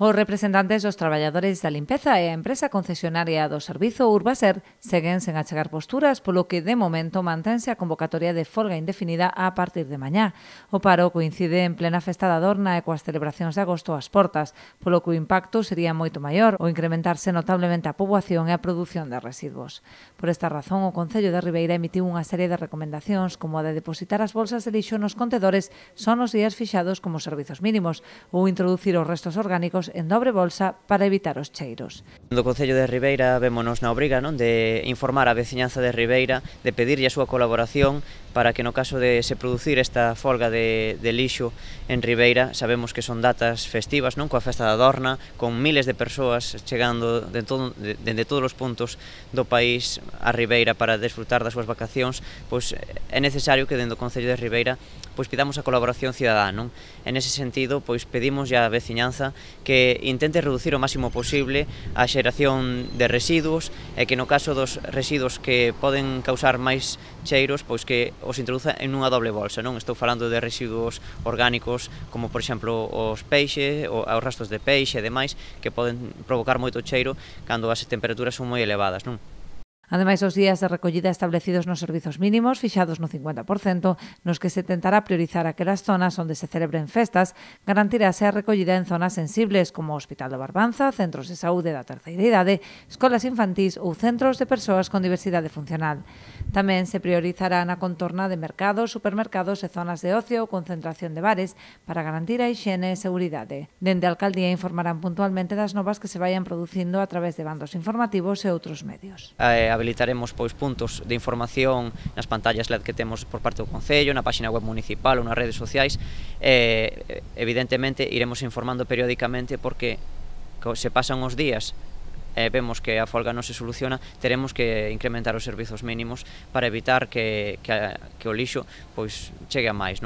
Os representantes dos traballadores da limpeza e a empresa concesionaria do servizo Urbaser seguen sen achegar posturas, polo que de momento mantense a convocatoria de folga indefinida a partir de mañá. O paro coincide en plena festa da Adorna e coas celebracións de agosto ás portas, polo que o impacto sería moito maior ao incrementarse notablemente a poboación e a produción de residuos. Por esta razón, o Concello de Ribeira emitiu unha serie de recomendacións como a de depositar as bolsas de lixo nos contedores só nos días fixados como servizos mínimos ou introducir os restos orgánicos en dobre bolsa para evitar os cheiros. Do Concello de Ribeira vémonos na obriga de informar a veciñanza de Ribeira, de pedirlle a súa colaboración para que no caso de se producir esta folga de lixo en Ribeira, sabemos que son datas festivas, coa festa da Adorna, con miles de persoas chegando dende todos os puntos do país a Ribeira para desfrutar das súas vacacións, pois é necesario que dentro do Concello de Ribeira pois pidamos a colaboración cidadá. En ese sentido, pois pedimos á veciñanza que intente reducir o máximo posible a xeración de residuos e que no caso dos residuos que poden causar máis cheiros, pois que os introduza en unha doble bolsa. Estou falando de residuos orgánicos como, por exemplo, os peixes, os restos de peixe e demais, que poden provocar moito cheiro cando as temperaturas son moi elevadas. Ademais, os días de recollida establecidos nos servizos mínimos, fixados no 50%, nos que se tentará priorizar aquelas zonas onde se celebren festas, garantirase a recollida en zonas sensibles como o Hospital do Barbanza, centros de saúde da terceira idade, escolas infantís ou centros de persoas con diversidade funcional. Tamén se priorizará na contorna de mercados, supermercados e zonas de ocio ou concentración de bares para garantir a hixiene e seguridade. Dende a Alcaldía informarán puntualmente das novas que se vayan producindo a través de bandos informativos e outros medios. Habilitaremos puntos de información nas pantallas LED que temos por parte do Concello, na página web municipal ou nas redes sociais. Evidentemente iremos informando periódicamente porque se pasan os días e vemos que a folga non se soluciona, teremos que incrementar os servizos mínimos para evitar que o lixo chegue a máis.